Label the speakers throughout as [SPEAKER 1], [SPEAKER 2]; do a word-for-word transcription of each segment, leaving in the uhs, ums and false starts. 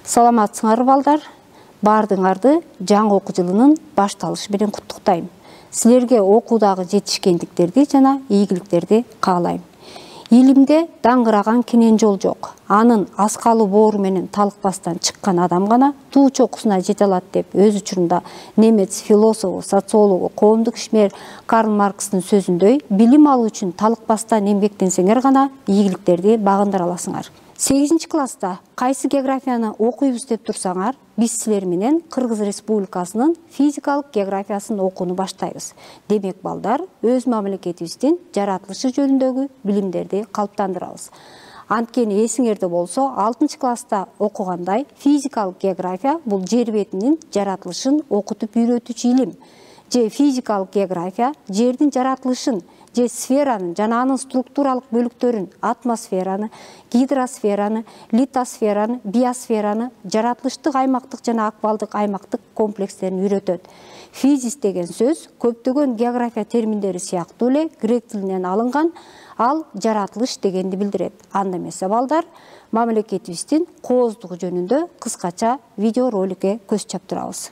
[SPEAKER 1] Саламатсыңар балдар, бардыңарды жаңы окуу жылынын башталышы менен куттуктайм. Силерге окуудагы жетишкендиктерди жана ийгиликтерди каалайм. Илимде даңгыраган кенен жол жок. Анын аскалы боору менен талыкпастан чыккан адам гана туу чокусуна жете алат деп өз учурунда немец философу, социологу, коомдук ишмер Карл Маркстын сөзүндөй, билим алуу үчүн талыкпастан эмгектенсеңер гана ийгиликтерди багындыра аласыңар. сегизинчи класста кайсы географияны окуйбуз деп турсаңар, биз силер менен Кыргыз Республикасынын физикалык географиясын окууну баштайбыз. Демек балдар, өз мамлекетибиздин жаратылышы жөнүндөгү билимдерди калыптандырабыз. Анткени эсиңерде болсо, алтынчы класста окугандай физикалык география бул жер бетинин жаратылышын окутуп үйрөтүүчү илим. Же физикалык география жердин жаратылышын, же сферанын жана анын структуралык бөлүктөрүн, атмосфераны, гидросфераны, литосфераны, биосфераны, жаратылыштык аймактык жана акбалдык аймактык комплекстерин үйрөтөт. Физис деген сөз көптөгөн география терминдери сыяктуу эле грек тилинен алынган, ал жаратылыш дегенди билдирет. Анда эмесе балдар, мамлекетибиздин кооздугу жөнүндө кыскача видеороликке көз чаптырабыз.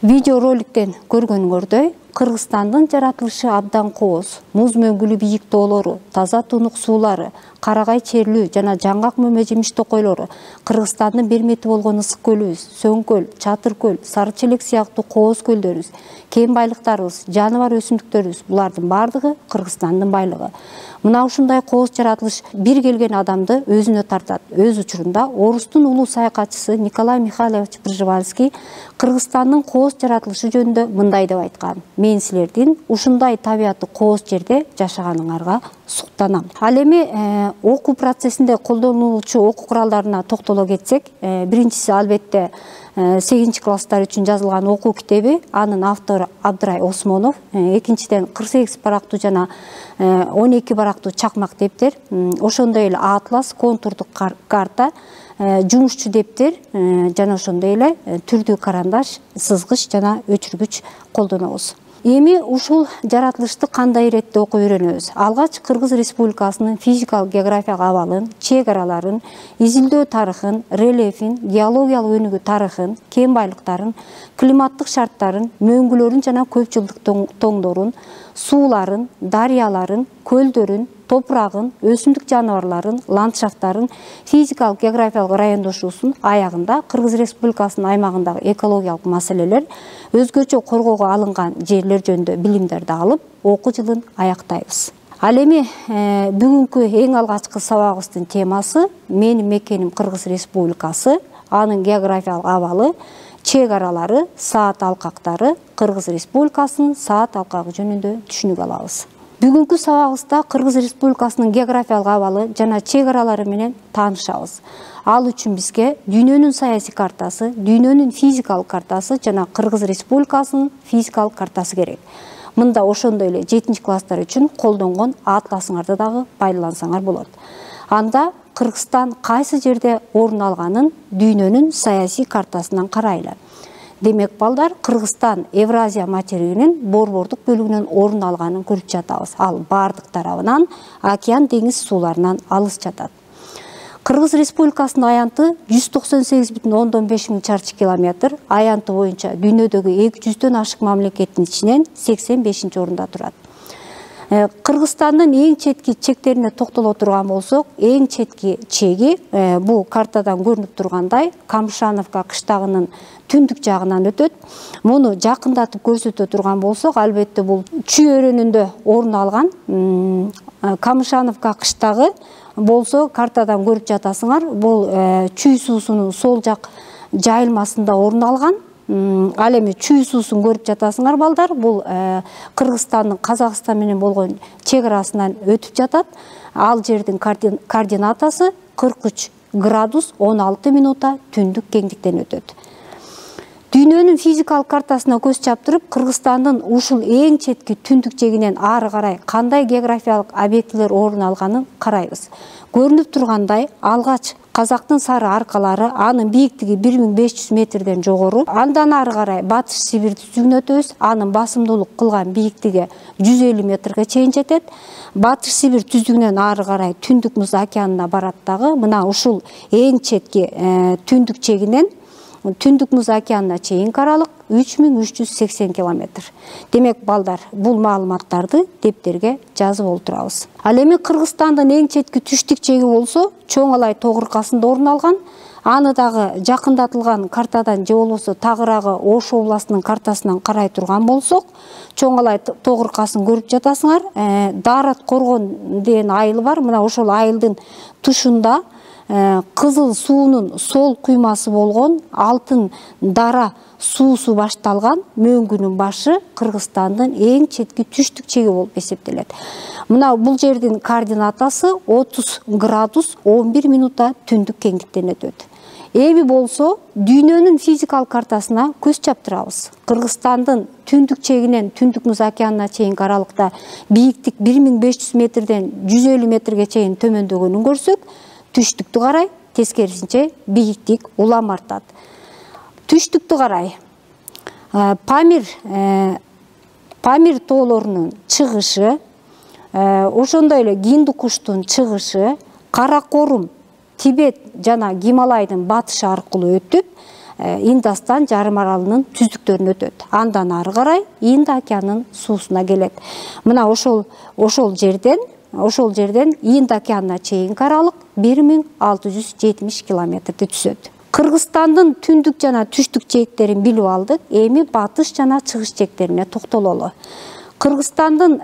[SPEAKER 1] Видеороликтен көргөнүңөрдөй, Кыргызстандын жаратылышы абдан кооз. Муз мөңгүлүү бийик тоолору, таза тунук суулары, карагай черлүү жана жаңгак мөмө жемиш токойлору, Кыргызстандын бермети болгон ысык көлүбүз, Сөңкөл, Чатыр көл, Сары Челек сыяктуу кооз көлдөрүбүз, кен байлыктарыбыз, жаныбар өсүмдүктөрүбүз, булардын бардыгы Кыргызстандын байлыгы. Мына ушундай кооз жаратылыш бир келген адамды өзүнө тартат. Өз учурунда орустун улуу саякатчысы Николай Михайлович Пржевальский Кыргызстандын кооз жаратылышы жөнүндө мындай деп айткан: мен силердин ушундай табияты кооз жерде жашаганыңарга суктанам. Ал эми окуу процессинде колдонулуучу окуу куралдарына токтоло кетсек, биринчиси албетте сегизинчи класстар үчүн жазылган окуу китеби, анын автору Абдрай Осмонов, экинчиден кырк сегиз барактуу жана он эки барактуу чакмак дептер, ошондой эле атлас, контурдук карта, жумушчу дептер жана ошондой эле түрдүү карандаш, сызгыч жана өчүргүч колдонобуз. Эми ушул жаратылышты кандай иретте окуп үйрөнөбүз? Алгач Кыргыз Республикасынын физикалык географиялык абалын, чек араларын, изилдөө тарыхын, рельефин, геологиялык өнүгүү тарыхын, кен байлыктарын, климаттык шарттарын, мөңгүлөрүн жана көп жылдык тоңдорун, сууларын, дарыяларын, көлдөрүн, топурагын, өсүмдүк жаныбарларын, ландшафттарын, физикалык географиялык райондошуусун аягында Кыргыз Республикасынын аймагындагы экологиялык маселелер, өзгөчө коргоого алынган жерлер жөнүндө билимдерди алып, окуу жылын аяктайбыз. Ал эми бүгүнкү эң алгачкы сабагыбыздын темасы менин мекеним Кыргыз Республикасы, анын географиялык абалы, чек аралары, саат алкактары, Кыргыз Республикасынын саат алкагы жөнүндө түшүнүк алабыз. Бүгүнкү сабагыбызда Кыргыз Республикасынын географиялык абалы жана чек аралары менен таанышабыз. Ал үчүн бизге дүйнөнүн саясий картасы, дүйнөнүн физикалык картасы жана Кыргыз Республикасынын физикалык картасы керек. Мында ошондой эле жетинчи класстар үчүн колдонгон атласыңарды дагы пайдалансаңар болот. Анда Кыргызстан кайсы жерде орун алганын дүйнөнүн саясий картасынан карайлы. Демек балдар, Кыргызстан Евразия материгинин борбордук бөлүгүнөн орун алганын көрүп жатабыз. Ал бардык тарабынан океан деңиз сууларынан алыс жатат. Кыргыз Республикасынын аянты жүз токсон сегиз бүтүн ондон беш миң чарчы километр, аянты боюнча дүйнөдөгү эки жүздөн ашык мамлекеттин ичинен сексен бешинчи орунда турат. Кыргызстандын эң четки чектерине токтоло турган болсок, эң четки чеги бул картадан көрүнүп тургандай Камышановка кыштагынын түндүк жагынан өтөт. Муну жакындатып көрсөтө турган болсок, албетте бул Чүй өрөөнүндө орун алган. Камышановка кыштагы болсо картадан көрүп жатасыңар, бул Чүй суусунун сол жак жайылмасында орун алган. Ал эми Чүй суусун көрүп жатасыңар балдар, бул Кыргызстандын Казакстан менен болгон чек арасынан өтүп жатат. Ал жердин координатасы кырк үч градус он алты минута түндүк кеңдиктен өтөт. Дүйнөнүн физикалык картасына көз чаптырып, Кыргызстандын ушул эң четки түндүк жегинен ары карай кандай географиялык объектилер орун алганын карайбыз. Көрүнүп тургандай, алгач Казактын сары аркалары, анын бийиктиги бир миң беш жүз метрден жогору. Андан ары карай Батыш Сибирь түзүгүнө өтөбүз. Анын басымдуулук кылган бийиктиги жүз элүү метрге чейин жетет. Батыш Сибирь түзүгүнөн ары карай Түндүк Муз океанына барат дагы. Мына ушул эң четки түндүк чегинен Түндүк Муз океанына чейинки аралык үч миң үч жүз сексен километр. Демек балдар, бул маалыматтарды дептерге жазып олтурабыз. Ал эми Кыргызстандын эң четки түштүк чеги болсо, Чоң Алай тоо кыркасында орун алган. Аны дагы жакындатылган картадан же болбосо тагыраагы Ош областынын картасынан карай турган болсок, Чоң Алай тоо кыркасын көрүп жатасыңар. Дарат Коргон деген айыл бар. Мына ошол айылдын тушунда Кызыл суунун сол куймасы болгон Алтын Дара суусу башталган мөңгүнүн башы Кыргызстандын эң четки түштүк чеги болуп эсептелет. Мына бул жердин координатасы отуз градус он бир минута түндүк кеңдиктен өтөт. Эми болсо дүйнөнүн физикалык картасына көз чаптырабыз. Кыргызстандын түндүк чегинен Түндүк Муз океанына чейинки аралыкта бийиктик бир миң беш жүз метрден жүз элүү метрге чейин төмөндөгөнүн көрсөк, түштүктү карай тескерисинче бийиктик улам артат. Түштүктү карай Памир Памир тоолорунун чыгышы, ошондой эле Гиндукуштун чыгышы, Каракорум, Тибет жана Гималайдын батышы аркылуу өтүп, Индостан жарым аралынын түздүктөрүнө өтөт. Андан ары карай Инд океанынын суусуна келет. Мына ошол ошол жерден Ошол жерден Инд океанына чейинки аралык бир миң алты жүз жетимиш километрди түзөт. Кыргызстандын түндүк жана түштүк чектерин билип алдык. Эми батыш жана чыгыш чектерине токтололу. Кыргызстандын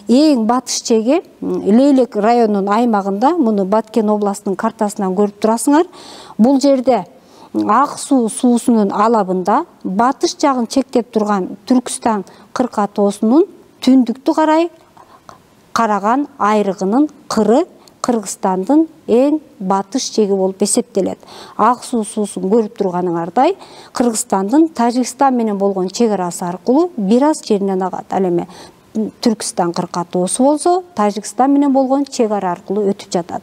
[SPEAKER 1] эң батыш чеги Лейлек районунун аймагында, муну Баткен областынын картасынан көрүп турасыңар. Бул жерде Ак суу суусунун алабында батыш жагын чектеп турган Түркүстан кырка тоосунун түндүктү карай караган айрыгынын кыры Кыргызстандын эң батыш чеги болуп эсептелет. Ак суу суусун көрүп турганыңардай, Кыргызстандын Тажикстан менен болгон чек арасы аркылуу бир аз жеринен агат. Ал эми Түркүстан кырка тоосу болсо, Тажикстан менен болгон чек ара аркылуу өтүп жатат.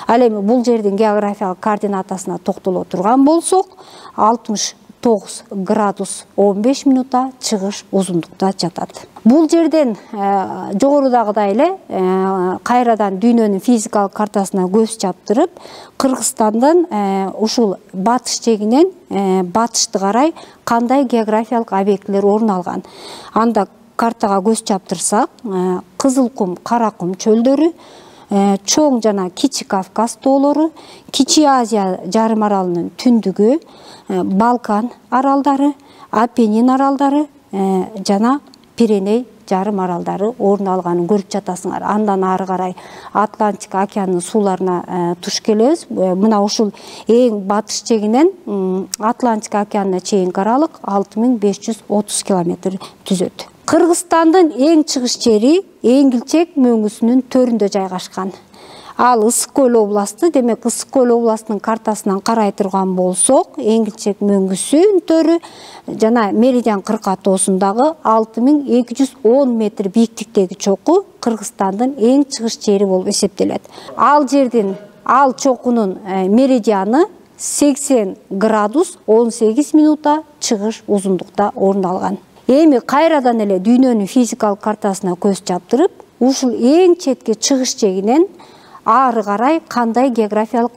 [SPEAKER 1] Ал эми бул жердин географиялык координатасына токтоло турган болсок, алтымыш тогуз градус он беш минута чыгыш узундукта жатат. Бул жерден жогорудагыдай эле кайрадан дүйнөнүн физикалык картасына көз чаптырып, Кыргызстандын ушул батыш чегинен батышты карай кандай географиялык объектилер орун алган. Анда картага көз чаптырсак, Кызыл кум, Кара кум чөлдөрү, Чоң жана Кичи Кавказ тоолору, Кичи Азия жарым аралынын түндүгү, Балкан аралдары, Апеннин аралдары жана Пиреней жарым аралдары орун алганын көрүп жатасыңар. Андан ары карай Атлантика океанынын сууларына туш келебиз. Мына ушул эң батыш чегинен Атлантика океанына чейинки аралык алты миң беш жүз отуз километр түзөт. Кыргызстандын эң чыгыш жери Эңилчек мөңгүсүнүн төрүндө жайгашкан. Ал Ысык Көл областы, демек Ысык Көл областынын картасынан карай турган болсок, Эңилчек мөңгүсүнтөрү жана Меридиан кырка тоосундагы алты миң эки жүз он метр бийиктиктеги чоку Кыргызстандын эң чыгыш жери болуп эсептелет. Ал жердин, ал чокунун меридианы сексен градус он сегиз минутта чыгыш узундукта орун алган. Эми кайрадан эле дүйнөнүн физикалык картасына көз чаптырып, ушул эң четки чыгыш жегинен ары карай кандай географиялык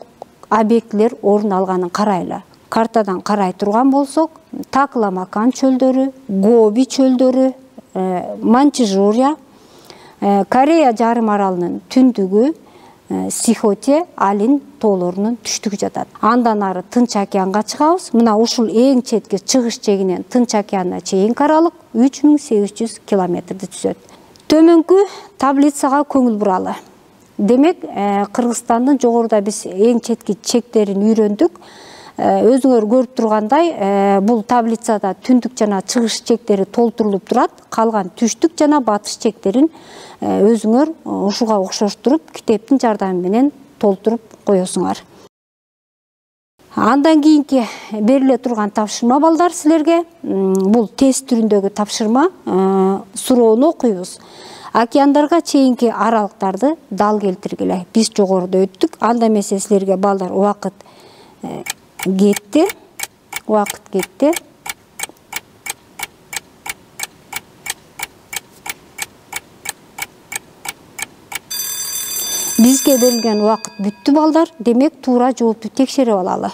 [SPEAKER 1] объектилер орун алганын карайлы. Картадан карай турган болсок, Такламакан чөлдөрү, Гоби чөлдөрү, Манчжурия, Корея жарым аралынын түндүгү, Сихоте, Алин тоолорунун түштүгү жатат. Андан ары Тынч океанга чыгабыз. Мына ушул эң четки чыгыш жегинен Тынч океанына чейинки аралык үч миң сегиз жүз километрди түзөт. Төмөнкү таблицага көңүл буралы. Демек, Кыргызстандын жогоруда биз эң четки чектерин үйрөндүк. Өзүңөр көрүп тургандай, бул таблицада түндүк жана чыгыш чектери толтурулуп турат. Калган түштүк жана батыш чектерин өзүңөр ушуга окшоштуруп, китептин жардамы менен толтуруп коесуңар. Андан кийинки бериле турган тапшырма балдар силерге. Бул тест түрүндөгү тапшырма. Суроону окуйбуз. Океандарга чейинки аралыктарды дал келтиргиле. Биз жогоруда өттүк. Анда эмесе силерге балдар убакыт кетти. Убакыт кетти. Бизге берилген убакыт бүттү балдар. Демек, туура жоопту текшерип алалы.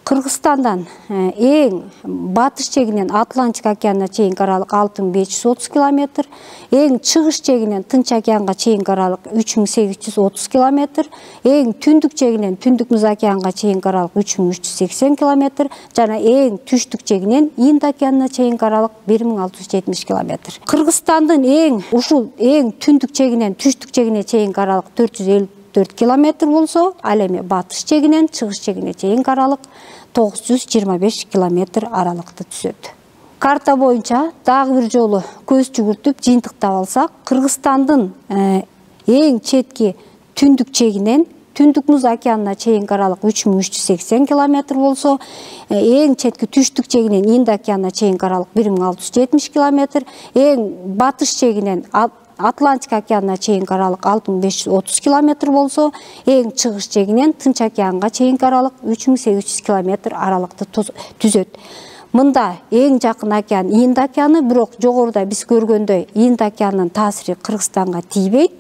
[SPEAKER 1] Кыргызстандан эң батыш жегинен Атлантик океанына чейинки аралык алты миң беш жүз отуз километр, эң чыгыш жегинен Тынч океанга чейинки аралык үч миң сегиз жүз отуз километр, эң түндүк жегинен Түндүк Муз океанга чейинки аралык үч миң үч жүз сексен километр жана эң түштүк жегинен Инд океанына чейинки аралык бир миң алты жүз жетимиш километр. Кыргызстандын эң ушул эң түндүк жегинен түштүк жегине чейинки аралык төрт жүз элүү төрт километр болсо, ал эми батыш жегинен чыгыш жегине чейинки аралык тогуз жүз жыйырма беш километр аралыкты түзөт. Карта боюнча дагы бир жолу көз жүгүртүп жыйынтыктап алсак, Кыргызстандын эң четки түндүк жегинен Түндүк Муз океанына чейинки аралык үч миң үч жүз сексен километр болсо, эң четки түштүк жегинен Инд океанына чейинки аралык бир миң алты жүз жетимиш километр, эң батыш жегинен Атлантик океанына чейинки аралык алты миң беш жүз отуз километр болсо, эң чыгыш жегинен Тынч океанга чейинки аралык үч миң сегиз жүз километр аралыкты түзөт. Мында эң жакын океан Инд океаны, бирок жогоруда биз көргөндөй Инд океанынын таасири Кыргызстанга тийбейт.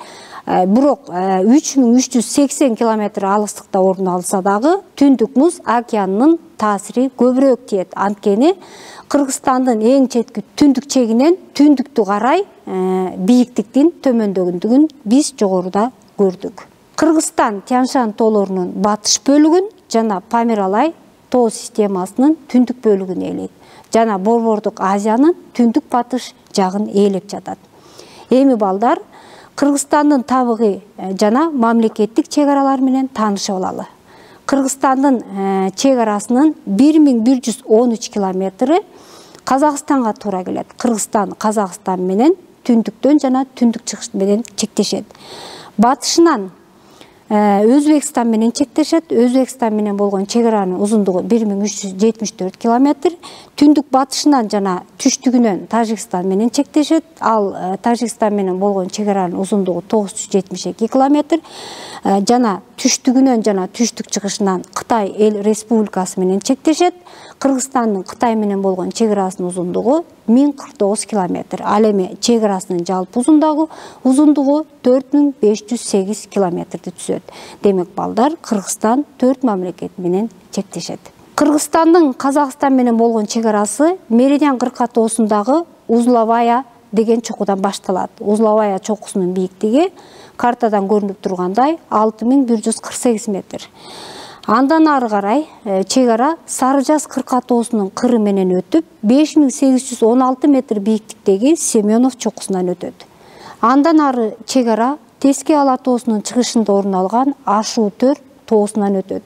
[SPEAKER 1] Бирок үч миң үч жүз сексен километр алыстыкта орун алса дагы, Түндүк Муз океанынын таасири көбүрөөк тиет. Анткени Кыргызстандын эң четки түндүк чегинен түндүктү карай бийиктиктин төмөндөгүндүгүн биз жогоруда көрдүк. Кыргызстан Тянь-Шань тоолорунун батыш бөлүгүн жана Памир-Алай тоо системасынын түндүк бөлүгүн ээлейт. Жана Борбордук Азиянын түндүк батыш жагын ээлеп жатат. Эми балдар, Кыргызстандын табигый жана мамлекеттик чек аралары менен таанышып алалы. Кыргызстандын чек арасынын бир миң бир жүз он үч километри Казакстанга туура келет. Кыргызстан Казакстан менен түндүктөн жана түндүк чыгыш менен чектешет. Батышынан Өзбекстан менен чектешет. Өзбекстан менен болгон чек аранын узундугу бир миң үч жүз жетимиш төрт километр. Түндүк батышынан жана түштүгүнөн Тажикстан менен чектешет. Ал Тажикстан менен болгон чек аранын узундугу тогуз жүз жетимиш эки километр. Жана түштүгүнөн жана түштүк чыгышынан Кытай эл республикасы менен чектешет. Кыргызстандын Кытай менен болгон чек арасынын узундугу миң кырк тогуз километр. Ал эми чек арасынын жалпы узундугу узундугу төрт миң беш жүз сегиз километрди түзөт. Демек балдар, Кыргызстан төрт мамлекет менен чектешет. Кыргызстандын Казакстан менен болгон чек арасы Меридиан кырка тоосундагы Узловая деген чокудан башталат. Узловая чокусунун бийиктиги картадан көрүнүп тургандай алты миң бир жүз кырк сегиз метр. Андан ары карай чек ара Сары Жаз кырка тоосунун кыры менен өтүп, беш миң сегиз жүз он алты метр бийиктиктеги Семенов чокусунан өтөт. Андан ары чек ара Теске Ала тоосунун чыгышында орун алган Ашу төр тоосунан өтөт.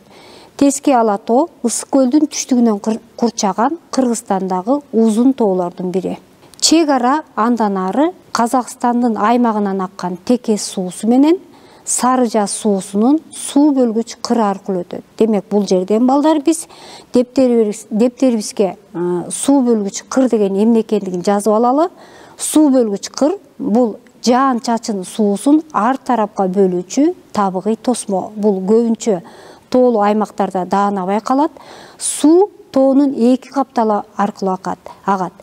[SPEAKER 1] Теске Ала тоо Ысык көлдүн түштүгүнөн курчаган Кыргызстандагы узун тоолордун бири. Чек ара андан ары Казакстандын аймагынан аккан Текес суусу менен Сарыжа суусунун суу бөлгүч кыры аркылуу өтөт. Демек бул жерден балдар биз дептерибизге суу бөлгүч кыр деген эмне экендигин жазып алалы. Суу бөлгүч кыр бул жаан чачын суусун ар тарапка бөлүүчү табигый тосмо. Бул көбүнчө тоолуу аймактарда даана байкалат. Суу тоонун эки капталы аркылуу агат.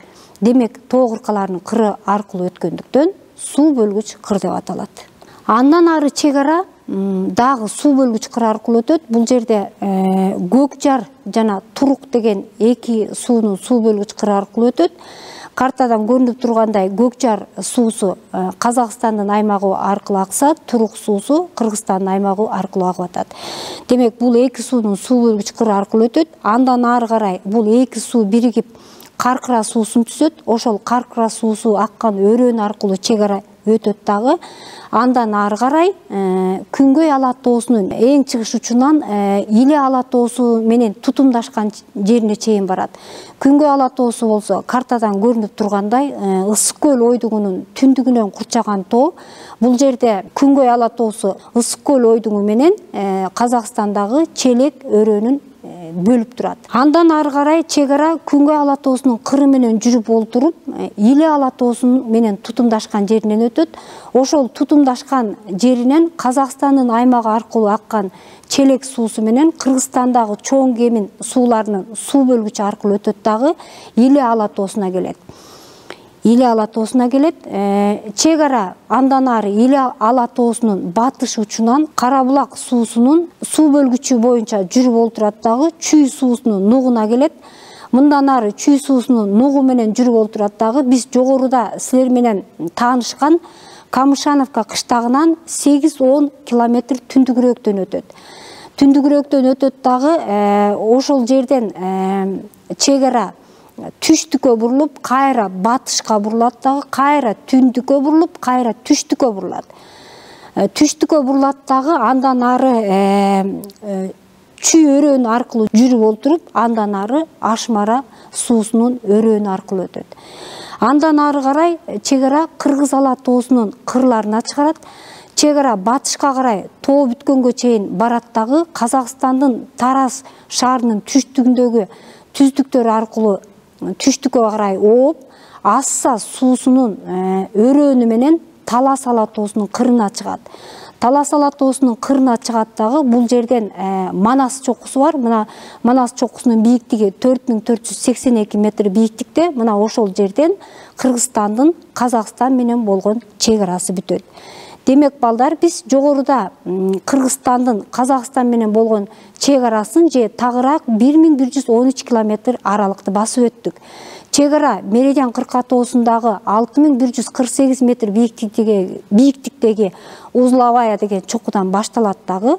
[SPEAKER 1] Демек тоо кыркаларынын кыры аркылуу өткөндүктөн суу бөлгүч кыр деп аталат. Андан ары чек ара дагы суу бөлгүч кыр аркылуу өтөт. Бул жерде Көк жар жана Турук деген эки суунун суу бөлгүч кыры аркылуу өтөт. Картадан көрүнүп тургандай Көк жар суусу Казакстандын аймагы аркылуу акса, Турук суусу Кыргызстандын аймагы аркылуу агып атат. Демек бул эки суунун суу бөлгүч кыры аркылуу өтөт. Андан ары карай бул эки суу биригип Каркыра суусун түзөт. Ошол Каркыра суусу аккан өрөөн аркылуу чек ара өтөт дагы. Андан ары карай Күнгөй ала тоосунун эң чыгыш учунан Иле ала тоосу менен тутумдашкан жерине чейин барат. Күнгөй ала тоосу болсо картадан көрүнүп тургандай Ысык көл ойдугунун түндүгүнөн курчаган тоо. Бул жерде Күнгөй ала тоосу Ысык көл ойдугу менен Казакстандагы Челек өрөөнүн бөлүп турат. Андан ары карай чек ара Күнгөй ала тоосунун кыры менен жүрүп олтуруп, Иле ала тоосунун менен тутумдашкан жеринен өтөт. Ошол тутумдашкан жеринен Казакстандын аймагы аркылуу аккан Челек суусу менен Кыргызстандагы чоң кемин сууларынын суу бөлгүчү аркылуу өтөт дагы Иле ала тоосуна келет. Иле ала тоосуна келет. Чек ара андан ары Иле ала тоосунун батыш учунан Карабулак суусунун суу бөлгүчү боюнча жүрүп олтурат дагы Чүй суусунун нугуна келет. Мындан ары Чүй суусунун нугу менен жүрүп олтурат дагы биз жогоруда силер менен таанышкан Камышановка кыштагынан сегиз он километр түндүгүрөөктөн өтөт. Түндүгүрөөктөн өтөт дагы ошол жерден чек ара түштүккө бурулуп, кайра батышка бурулат дагы, кайра түндүккө бурулуп, кайра түштүккө бурулат. Түштүккө бурулат дагы андан ары Чүй өрөөнү аркылуу жүрүп олтуруп, андан ары Ашмара суусунун өрөөнү аркылуу өтөт. Андан ары карай чек ара Кыргыз ала тоосунун кырларына чыгарат. Чек ара батышка карай тоо бүткөнгө чейин барат дагы Казакстандын Тараз шаарынын түштүгүндөгү түздүктөр аркылуу түштүккө карай ооп, Асса суусунун өрөөнү менен Талас ала тоосунун кырына чыгат. Талас ала тоосунун кырына чыгат дагы бул жерден Манас чокусу бар. Мына Манас чокусунун бийиктиги төрт миң төрт жүз сексен эки метр бийиктикте. Мына ошол жерден Кыргызстандын Казакстан менен болгон чек арасы бүтөт. Демек балдар биз жогоруда Кыргызстандын Казакстан менен болгон чек арасын же тагыраак бир миң бир жүз он үч километр аралыкты басып өттүк. Чек ара Меридиан кырка тоосундагы алты миң бир жүз кырк сегиз метр бийиктиктеги бийиктиктеги Узловая деген чокудан башталат дагы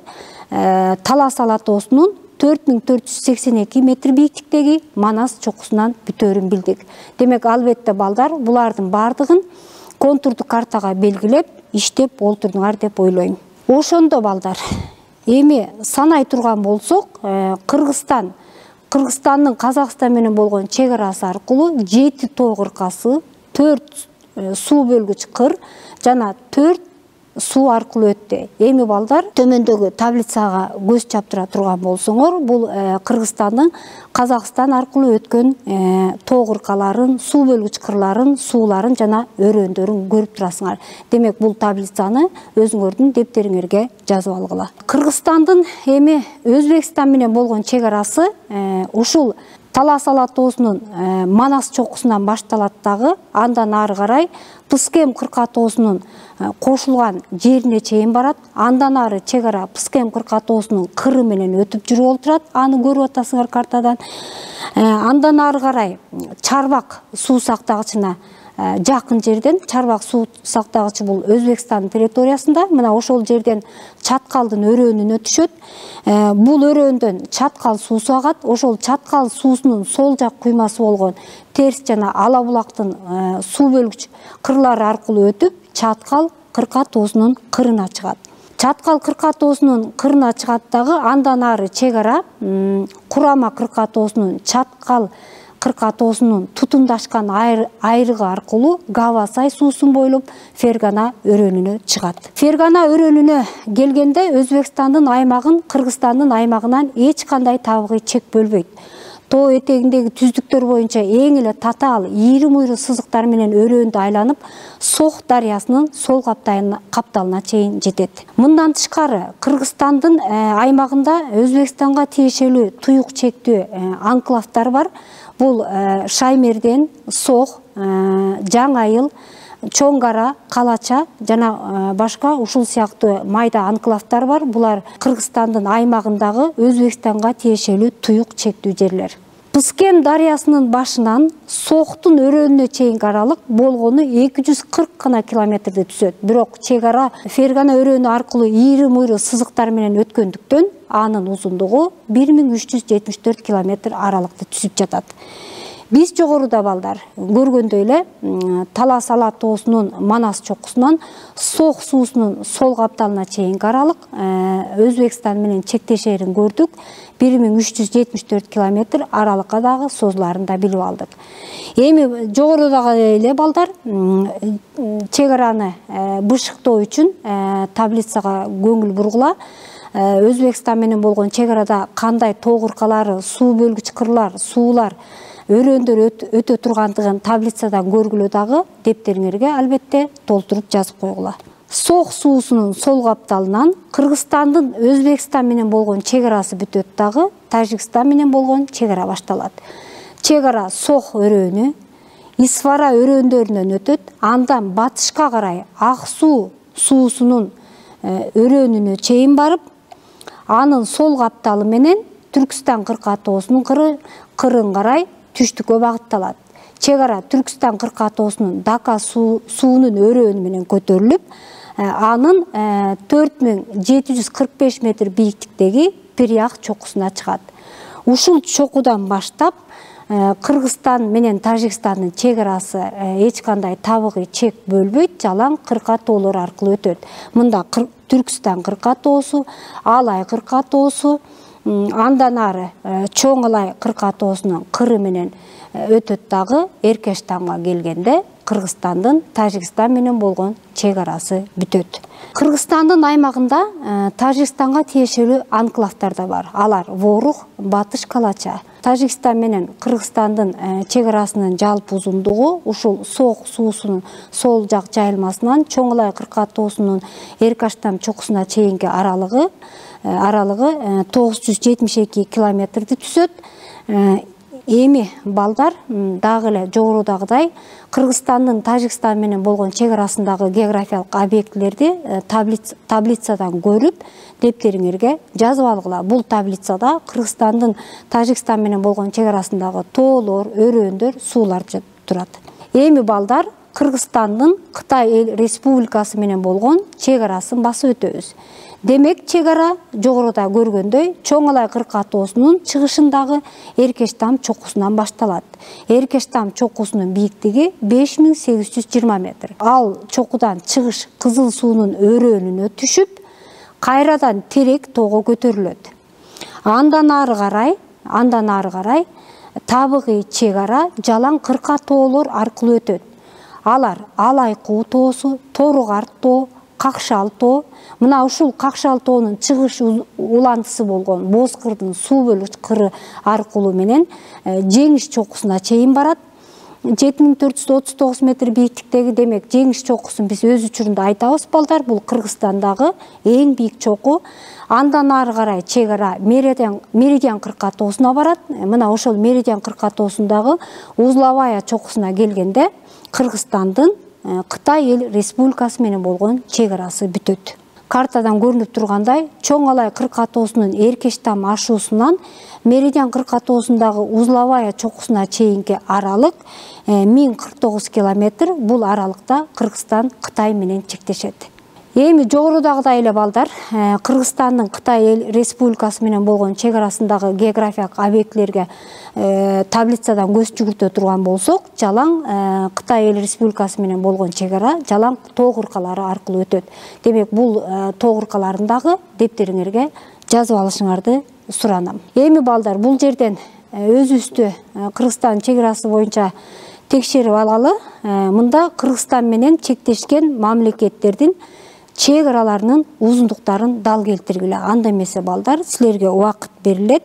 [SPEAKER 1] Талас ала тоосунун төрт миң төрт жүз сексен эки метр бийиктиктеги Манас чокусунан бүтөөрүн билдик. Демек албетте балдар булардын бардыгын контурдук картага белгилеп иштеп олтурдуңар деп ойлойм. Ошондо балдар эми санай турган болсок, Кыргызстан Кыргызстандын Казакстан менен болгон чек арасы аркылуу жети тоо кыркасы, төрт суу бөлгүч кыр жана төрт суу аркылуу өттү. Эми балдар төмөндөгү таблицага көз чаптыра турган болсоңор, бул Кыргызстандын Казакстан аркылуу өткөн тоо кыркаларын, суу бөлгүч кырларын, сууларын жана өрөөндөрүн көрүп турасыңар. Демек бул таблицаны өзүңөрдүн дептериңерге жазып алгыла. Кыргызстандын эми Өзбекстан менен болгон чек арасы ушул Талас ала тоосунун Манас чокусунан башталат дагы, андан ары карай Пыскем кырка тоосунун кошулган жерине чейин барат. Андан ары чек ара Пыскем кырка тоосунун кыры менен өтүп жүрүп олтурат. Аны көрүп атасыңар картадан. Андан ары карай Чарбак суу сактагычына жакын жерден, Чарбак суу сактагычы бул Өзбекстандын территориясында. Мына ошол жерден Чаткалдын өрөөнүнө түшөт. Бул өрөөндөн Чаткал суусу агат. Ошол Чаткал суусунун сол жак куймасы болгон Терс жана Ала булактын суу бөлгүч кырлары аркылуу өтүп, Чаткал кырка тоосунун кырына чыгат. Чаткал кырка тоосунун кырына чыгат дагы, андан ары чек ара Курама кырка тоосунун Чаткал кырка тоосунун тутумдашкан айрыгы аркылуу Гава-Сай суусун бойлоп Фергана өрөөнүнө чыгат. Фергана өрөөнүнө келгенде Өзбекстандын аймагын Кыргызстандын аймагынан эч кандай табигый чек бөлбөйт. Тоо этегиндеги түздүктөр боюнча эң эле татаал ийри муйру сызыктар менен өрөөндү айланып, Сох дарыясынын сол капталына чейин жетет. Мындан тышкары, Кыргызстандын аймагында Өзбекстанга тиешелүү туюк чектүү анклавдар бар. Бул Шаймерден, Сох, Жаңайыл, Чоң Кара, Калача жана башка ушул сыяктуу майда анклавдар бар. Булар Кыргызстандын аймагындагы Өзбекстанга тиешелүү туюк чектүү жерлер. Пыскен дарыясынын башынан Сохтун өрөөнүнө чейинки аралык болгону эки жүз кырк гана километрди түзөт. Бирок чек ара Фергана өрөөнү аркылуу ийри муйру сызыктар менен өткөндүктөн анын узундугу бир миң үч жүз жетимиш төрт километр аралыкты түзүп жатат. Биз жогоруда балдар көргөндөй эле Талас-Ала тоосунун Манас чокусунан Сох суусунун сол капталына чейинки аралык Өзбекстан менен чектешерин көрдүк. бир миң үч жүз жетимиш төрт километр аралыкка дагы созуларын да билип алдык. Эми жогорудагы эле балдар чек араны бышыктоо үчүн таблицага көңүл бургула. Өзбекстан менен болгон чек арада кандай тоо кыркалары, суу бөлгүч кырлар, суулар, өрөөндөр өтө тургандыгын таблицадан көргүлө дагы дептериңерге албетте толтуруп жазып койгула. Сох суусунун сол капталынан Кыргызстандын Өзбекстан менен болгон чек арасы бүтөт дагы Тажикстан менен болгон чек ара башталат. Чек ара Сох өрөөнү, Исфара өрөөндөрүнөн өтөт, андан батышка карай Ак суу суусунун өрөөнүнө чейин барып, анын сол капталы менен Түркстан кырка тоосунун кырын карай түштүккө багытталат. Чек ара Түркстан кырка тоосунун Дака суунун өрөөнү менен көтөрүлүп, анын төрт миң жети жүз кырк беш метр бийиктиктеги Пиряк чокусуна чыгат. Ушул чокудан баштап Кыргызстан менен Тажикстандын чек арасы эч кандай табигый чек бөлбөйт, жалаң кырка тоолор аркылуу өтөт. Мында Түркстан кырка тоосу, Алай кырка тоосу, андан ары Чоң Алай кырка тоосунун кыры менен өтөт дагы. Эркештанга келгенде Кыргызстандын Тажикстан менен болгон чек арасы бүтөт. Кыргызстандын аймагында Тажикстанга тиешелүү анклавдар да бар. Алар Ворух, Батыш Калача. Тажикстан менен Кыргызстандын чек арасынын жалпы узундугу ушул Сох суусунун сол жак жайылмасынан Чоң Алай кырка тоосунун Эркештан чокусуна чейинки аралыгы аралыгы тогуз жүз жетимиш эки километрди түзөт. Эми балдар дагы эле жогорудагыдай Кыргызстандын Тажикстан менен болгон чек арасындагы географиялык объектилерди таблицадан көрүп, дептериңерге жазып алгыла. Бул таблицада Кыргызстандын Тажикстан менен болгон чек арасындагы тоолор, өрөөндөр, суулар турат. Эми балдар Кыргызстандын Кытай эл республикасы менен болгон чек арасын басып өтөбүз. Демек, чек ара жогоруда көргөндөй Чоң Алай кырка тоосунун чыгышындагы Эркештам чокусунан башталат. Эркештам чокусунун бийиктиги беш миң сегиз жүз жыйырма метр. Ал чокудан чыгыш Кызыл суунун өрөөнүнө түшүп, кайрадан Терек тоого көтөрүлөт. Андан ары карай, андан ары карай табигый чек ара жалаң кырка тоолор аркылуу өтөт. Алар Алай куу тоосу, Торугарт тоо, Какшал тоо. Мына ушул Какшал тоонун чыгыш улантысы болгон Бозкырдын суу бөлгүч кыры аркылуу менен Жеңиш чокусуна чейин барат. жети миң төрт жүз отуз тогуз метр бийиктиктеги, демек Жеңиш чокусун биз өз учурунда айтабыз балдар. Бул Кыргызстандагы эң бийик чоку. Андан ары карай чек ара Меридиан кырка тоосуна барат. Мына ошол Меридиан кырка тоосундагы Узловая чокусуна келгенде Кыргызстандын Кытай эл республикасы менен болгон чек арасы бүтөт. Картадан көрүнүп тургандай, Чоң Алай кырка тоосунун Эркештам ашуусунан Меридиан кырка тоосундагы Узловая чокусуна чейинки аралык миң кырк тогуз километр. Бул аралыкта Кыргызстан Кытай менен чектешет. Эми жогорудагыдай эле балдар, Кыргызстандын Кытай эл республикасы менен болгон чек арасындагы географиялык объектилерге таблицадан көз жүгүртө турган болсок, жалаң Кытай эл республикасы менен болгон чек ара жалаң тоо кыркалары аркылуу өтөт. Демек, бул тоо кыркаларын дагы дептериңерге жазып алышыңарды суранам. Эми балдар, бул жерден өзүбүздү Кыргызстан чек арасы боюнча текшерип алалы. Мында Кыргызстан менен чектешкен мамлекеттердин чек араларынын узундуктарын дал келтиргиле. Анда эмесе балдар, силерге убакыт берилет.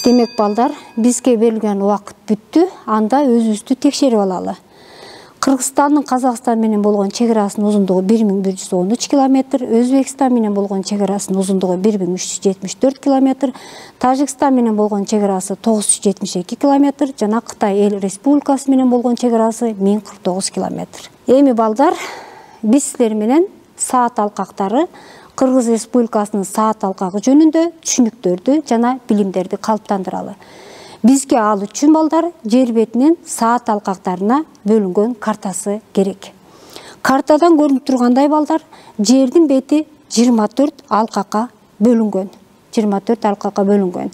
[SPEAKER 1] Демек балдар, бизге берилген убакыт бүттү. Анда өзүбүздү текшерип алалы. Кыргызстандын Казакстан менен болгон чек арасынын узундугу бир миң бир жүз он үч километр, Өзбекстан менен болгон чек арасынын узундугу бир миң үч жүз жетимиш төрт километр, Тажикстан менен болгон чек арасы тогуз жүз жетимиш эки километр жана Кытай Эл Республикасы менен болгон чек арасы миң кырк тогуз километр. Эми балдар, биз силер менен саат алкактары, Кыргыз Республикасынын саат алкагы жөнүндө түшүнүктөрдү жана билимдерди калыптандыралы. Бизге ал үчүн балдар жер бетинин саат алкактарына бөлүнгөн картасы керек. Картадан көрүнүп тургандай балдар, жердин бети жыйырма төрт алкакка бөлүнгөн. жыйырма төрт алкакка бөлүнгөн.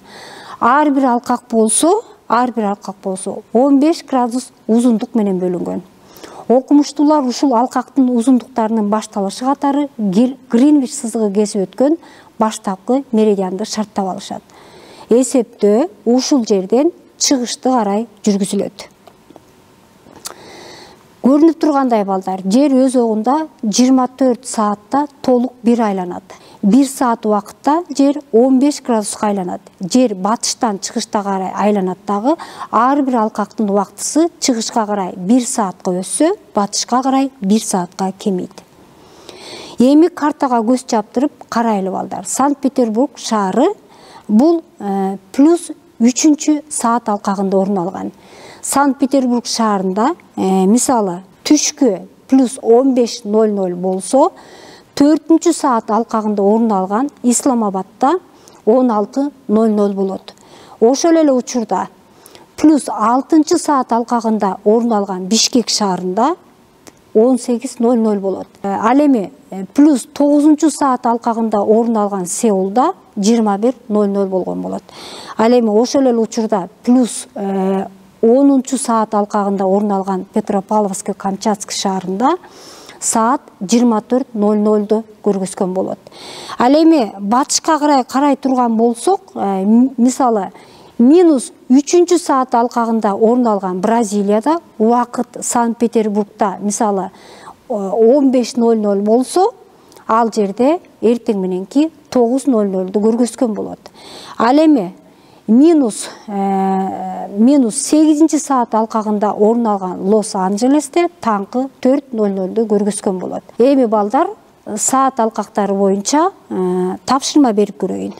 [SPEAKER 1] Ар бир алкак болсо, ар бир алкак болсо он беш градус узундук менен бөлүнгөн. Окумуштуулар ушул алкактын узундуктарынын башталышы катары Гринвич сызыгы кесип өткөн баштапкы меридианды шарттап алышат. Эсептөө ушул жерден чыгышты карай жүргүзүлөт. Көрүнүп тургандай балдар, жер өз огунда жыйырма төрт саатта толук бир айланат. бир саат убакытта жер он беш градуска айланат. Жер батыштан чыгышка карай айланат дагы, ар бир алкактын убактысы чыгышка карай бир саатка өссө, батышка карай бир саатка кемейт. Эми картага көз чаптырып карайлы балдар. Санкт-Петербург шаары бул плюс үчүнчү саат алкагында орун алган. Санкт-Петербург шаарында мисалы түшкү плюс он беш ноль ноль болсо, төртүнчү саат алкагында орун алган Исламабадта он алты ноль ноль болот. Ошол эле учурда плюс алтынчы саат алкагында орун алган Бишкек шаарында он сегиз ноль ноль болот. Ал эми плюс тогузунчу саат алкагында орун алган Сеулда жыйырма бир ноль ноль болгон болот. Ал эми ошол эле учурда плюс онунчу саат алкагында орун алган Петропавловск-Камчатск шаарында саат жыйырма төрт ноль нольду көргөзгөн болот. Ал эми батышка карай карай турган болсок, мисалы минус үчүнчү саат алкагында орун алган Бразилияда убакыт Санкт-Петербургда мисалы он беш ноль ноль болсо, ал жерде эртең мененки тогуз ноль нольду көргөзгөн болот. Ал эми минус минус сегизинчи саат алкагында орун алган Лос-Анджелесте таңкы төрт ноль нольду көргөзгөн болот. Эми балдар, саат алкактары боюнча тапшырма берип көрөйүн.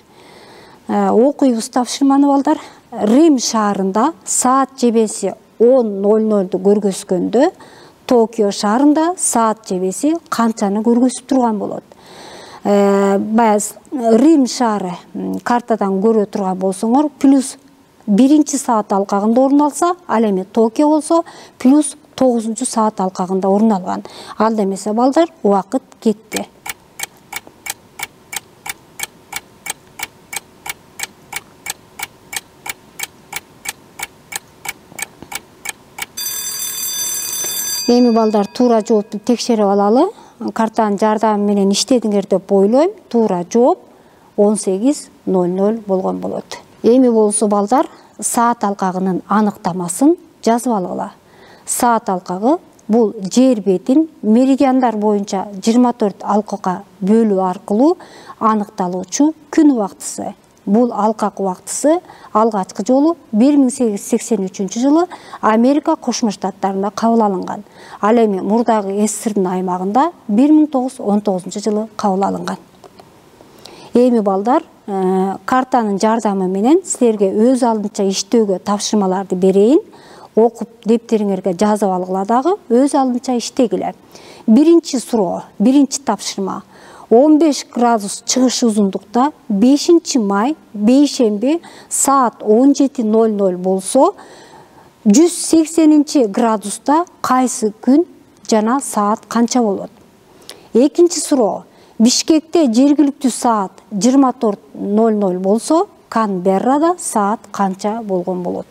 [SPEAKER 1] Окуйбуз тапшырманы балдар. Рим шаарында саат жебеси он ноль нольду көргөзгөндө, Токио шаарында саат жебеси канчаны көргөзүп турган болот. Баягы Рим шаары картадан көрө турган болсоңор, плюс биринчи саат алкагында орун алса, ал эми Токио болсо плюс тогузунчу саат алкагында орун алган. Ал эмесе балдар, убакыт кетти. Эми балдар, туура жоопту текшерип алалы. Картанын жардамы менен иштедиңер деп ойлойм. Туура жооп он сегиз ноль ноль болгон болот. Эми болсо балдар, саат алкагынын аныктамасын жазып алгыла. Саат алкагы бул жер бетин меридиандар боюнча жыйырма төрт алкакка бөлүү аркылуу аныкталуучу күн убактысы. Бул алкак убактысы алгачкы жолу бир миң сегиз жүз сексен үчүнчү жылы Америка Кошмо Штаттарында кабыл алынган. Ал эми мурдагы СССРдин аймагында бир миң тогуз жүз он тогузунчу жылы кабыл алынган. Эми балдар, картанын жардамы менен силерге өз алдынча иштөөгө тапшырмаларды берейин. Окуп дептериңерге жазып алгыла дагы, өз алдынча иштегиле. Биринчи суроо, биринчи тапшырма. он беш градус чыгыш узундукта бешинчи май бейшемби саат он жети ноль ноль болсо, жүз сексенинчи градуста кайсы күн жана саат канча болот? Экинчи суроо. Бишкекте жергиликтүү саат жыйырма төрт ноль ноль болсо, Канберрада саат канча болгон болот?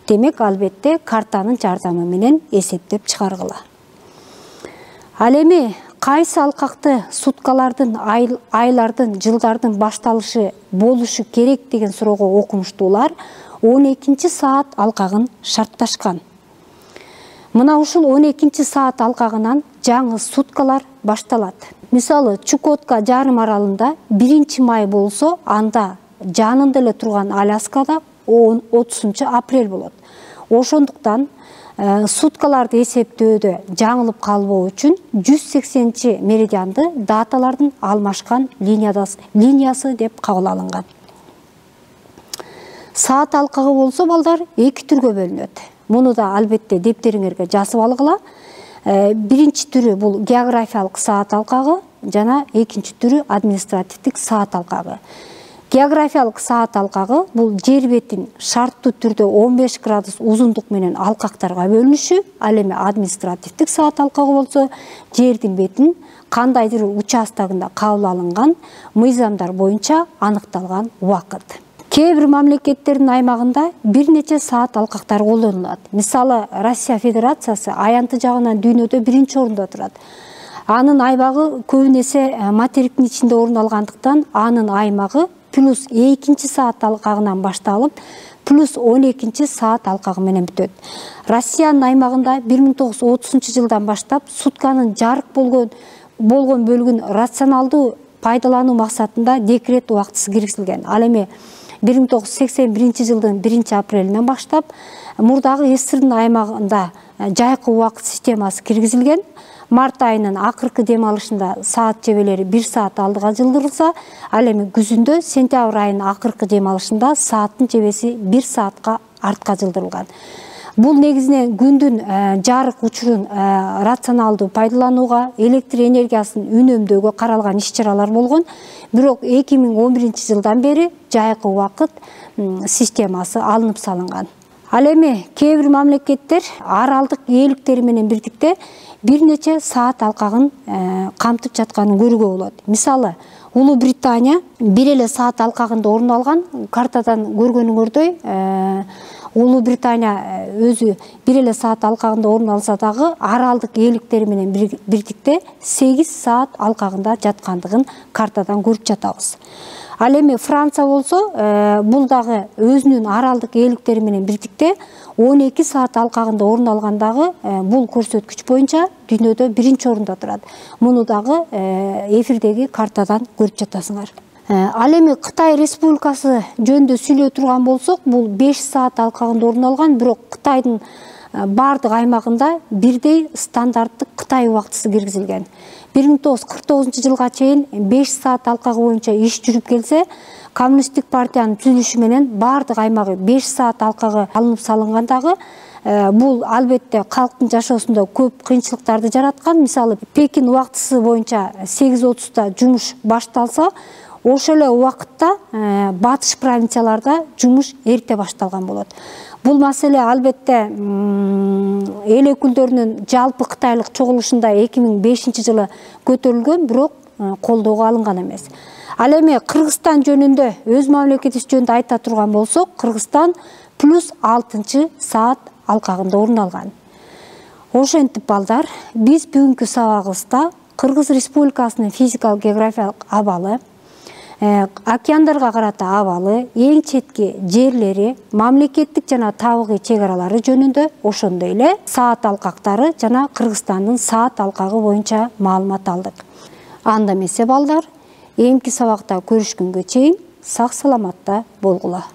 [SPEAKER 1] Демек, албетте картанын жардамы менен эсептеп чыгаргыла. Ал эми кайсы алкакты суткалардын, айлардын, жылдардын башталышы болушу керек деген суроого окумуштуулар он экинчи саат алкагын шартташкан. Мына ушул он экинчи саат алкагынан жаңы суткалар башталат. Мисалы, Чукотка жарым аралында биринчи май болсо, анда жанында эле турган Аляскада отузунчу апрель болот. Ошондуктан суткаларды эсептөөдө жаңылып калбоо үчүн жүз сексенинчи меридианды даталардын алмашкан линиясы деп кабыл алынган. Саат алкагы болсо, балдар эки түргө бөлүнөт. Муну да албетте дептериңерге жазып алгыла. Биринчи түрү бул географиялык саат алкагы, жана экинчи түрү административдик саат алкагы. Географиялык саат алкагы бул жер бетин шарттуу түрдө он беш градус узундук менен алкактарга бөлүнүшү, ал эми административдик саат алкагы болсо, жердин бетин кандайдыр участогунда кабыл алынган мыйзамдар боюнча аныкталган убакыт. Кээ бир мамлекеттердин аймагында бир нече саат алкактар колдонулат. Мисалы, Россия Федерациясы аянты жагынан дүйнөдө биринчи орунда турат. Анын аймагы көбүнесе материктин ичинде орун алгандыктан, анын аймагы плюс экинчи саат алкагынан башталып, плюс он экинчи саат алкагы менен бүтөт. Россиянын аймагында бир миң тогуз жүз отузунчу жылдан баштап сутканын жарык болгон болгон бөлүгүн рационалдуу пайдалануу максатында декрет убактысы киргизилген. Ал эми бир миң тогуз жүз сексен биринчи жылдын биринчи апрелинен баштап мурдагы СССРдин аймагында жайкы убакыт системасы киргизилген. Март айынын акыркы дем алышында саат жебелери бир саат алдыга жылдырылса, ал эми күзүндө сентябрь айынын акыркы дем алышында сааттын жебеси бир саатка артка жылдырылган. Бул негизинен күндүн жарык учурун рационалдуу пайдаланууга, электр энергиясын үнөмдөөгө каралган иш-чаралар болгон. Бирок эки миң он биринчи жылдан бери жайкы убакыт системасы алынып салынган. Ал эми кээ бир мамлекеттер аралдык ээликтери менен бирдикте бир нече саат алкагын камтып жатканын көрүүгө болот. Мисалы, Улуу Британия бир эле саат алкагында орун алган. Картадан көргөнүңөрдөй, Улуу Британия өзү бир эле саат алкагында орун алса дагы аралдык ээликтери менен бирдикте сегиз саат алкагында жаткандыгын картадан көрүп жатабыз. Ал эми Франция болсо, бул дагы өзүнүн аралдык ээликтери менен бирдикте он эки саат алкагында орун алгандагы бул көрсөткүч боюнча дүйнөдө биринчи орунда турат. Муну дагы эфирдеги картадан көрүп жатасыңар. Ал эми Кытай Республикасы жөнүндө сүйлөй турган болсок, бул беш саат алкагында орун алган, бирок Кытайдын бардык аймагында бирдей стандарттык Кытай убактысы киргизилген. бир миң тогуз жүз кырк тогузунчу жылга чейин беш саат алкагы боюнча иш жүрүп келсе, Коммунисттик партиянын түзүлүшү менен бардык аймагы беш саат алкагы алынып салынгандагы, бул албетте калктын жашоосунда көп кыйынчылыктарды жараткан. Мисалы, Пекин убактысы боюнча сегиз отузда жумуш башталса, ошол эле убакытта батыш провинцияларда жумуш эрте башталган болот. Бул маселе албетте эл өкүлдөрүнүн жалпы Кытайлык чогулушунда эки миң бешинчи жылы көтөрүлгөн, бирок колдоого алынган эмес. Ал эми Кыргызстан жөнүндө, өз мамлекетибиз жөнүндө айта турган болсок, Кыргызстан плюс алтынчы саат алкагында орун алган. Ошентип, балдар, биз бүгүнкү сабагыбызда Кыргыз Республикасынын физикалык географиялык абалы, океандарга карата абалы, эң четки жерлери, мамлекеттик жана табигый чек аралары жөнүндө, ошондой эле саат алкактары жана Кыргызстандын саат алкагы боюнча маалымат алдык. Анда эмесе, балдар, эмки сабакта көрүшкөнгө чейин сак саламатта болгула.